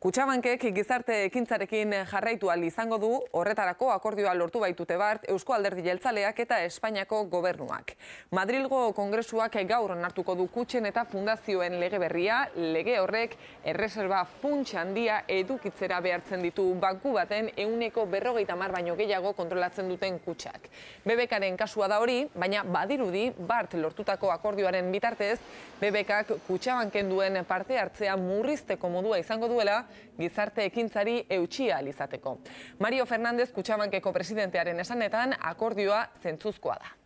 Kutxabankek gizarte ekintzarekin jarraitu ahal izango du, horretarako akordioa lortu baitute bart Eusko Alderdi Jeltzaleak eta Espainiako gobernuak. Madrilgo Kongresuak gaur onartuko du kutxen eta fundazioen lege berria, lege horrek erreserba funts handia edukitzera behartzen ditu banku baten 150 baino gehiago kontrolatzen duten kutxak. BBKaren kasua da hori, baina badirudi bart lortutako akordioaren bitartez, BBKak Kutxabanken duen parte hartzea murrizteko modua izango duela, gizarte ekintzari eutxia ahal izateko. Mario Fernández Kutxabankeko presidentearen esanetan akordioa zentzuzkoa da.